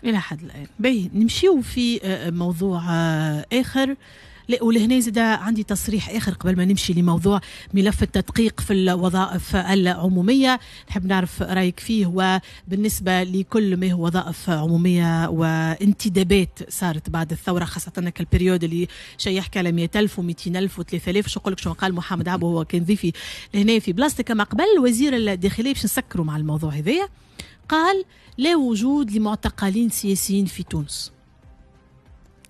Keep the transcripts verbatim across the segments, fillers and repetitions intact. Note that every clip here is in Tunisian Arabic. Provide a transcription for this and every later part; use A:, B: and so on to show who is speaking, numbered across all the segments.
A: الى حد الان. باهي، نمشيو في آه، موضوع آه، اخر. لا، ولهنا زاد عندي تصريح اخر قبل ما نمشي لموضوع ملف التدقيق في الوظائف العموميه، نحب نعرف رايك فيه، وبالنسبة لكل ما هو وظائف عموميه وانتدابات صارت بعد الثوره، خاصة ال période اللي شيء يحكي على مئة ألف ومئتين ألف وثلاثة آلاف. شو نقول لك، شو قال محمد عبو، هو كان ضيفي لهنا في بلاصتك كما قبل، وزير الداخليه، باش نسكروا مع الموضوع هذايا، قال لا وجود لمعتقلين سياسيين في تونس.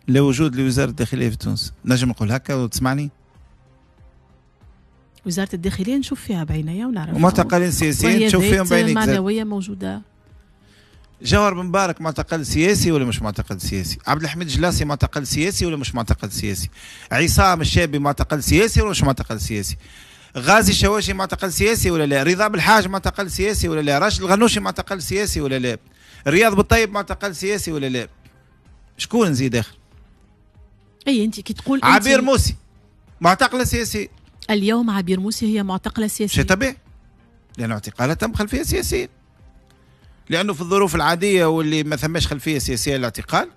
B: لا وجود لوزارة الداخلية في تونس، نجم نقول هكا وتسمعني؟
A: وزارة الداخلية نشوف فيها بعينيا ونعرف.
B: ومعتقلين سياسيين تشوف فيهم بعينيك؟
A: معنوية موجوده.
B: جوهر بن مبارك معتقل سياسي ولا مش معتقل سياسي؟ عبد الحميد الجلاصي معتقل سياسي ولا مش معتقل سياسي؟ عصام الشابي معتقل سياسي ولا مش معتقل سياسي؟ غازي الشواشي معتقل سياسي ولا لا؟ رضا بالحاج معتقل سياسي ولا لا؟ راشد الغنوشي معتقل سياسي ولا لا؟ رياض بالطيب معتقل سياسي ولا لا؟ شكون نزيد اخر؟
A: اي، انت كي تقول
B: عبير موسي معتقله سياسية.
A: اليوم عبير موسي هي معتقله سياسيه.
B: شيء طبيعي، لأنه اعتقالها تم خلفية سياسيه، لانه في الظروف العادية واللي ما ثماش خلفية سياسية للاعتقال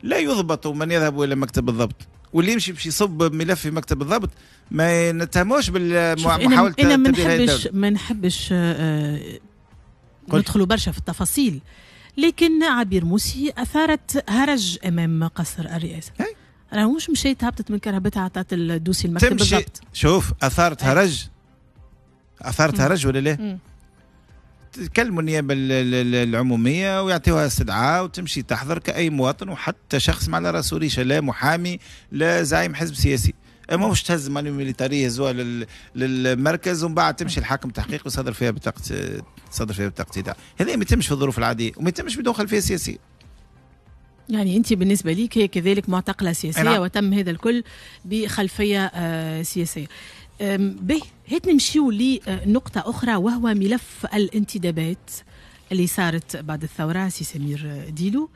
B: لا يضبط من يذهب الى مكتب الضبط، واللي يمشي باش يصب ملف في مكتب الضبط ما نتهموش بالمحاولة.
A: انا ما نحبش ما نحبش آه، ندخلوا برشا في التفاصيل، لكن عبير موسي اثارت هرج امام قصر الرئاسه، راه مش مشيت هبطت من كرهبتها عطات ال dossier المكتب
B: تمشي بالضبط. شوف، اثارت هرج، اثارت هرج ولا لا؟ تكلموا النيابة العمومية ويعطيوها استدعاء وتمشي تحضر كاي مواطن، وحتى شخص ما على راسه ريشه، لا محامي لا زعيم حزب سياسي. اما مش تهز manu militari يهزوها للمركز ومن بعد تمشي الحاكم تحقيق وصدر فيها بطاقه صدر فيها بطاقة ايداع. هذا ما يتمش في الظروف العادية وما يتمش بدون خلفية سياسيه.
A: يعني انت بالنسبة ليك هي كذلك معتقله سياسيه، نعم. وتم هذا الكل بخلفيه آه، سياسيه. به، هات نمشيو لنقطة أخرى، وهو ملف الانتدابات اللي صارت بعد الثورة. سي سمير ديلو.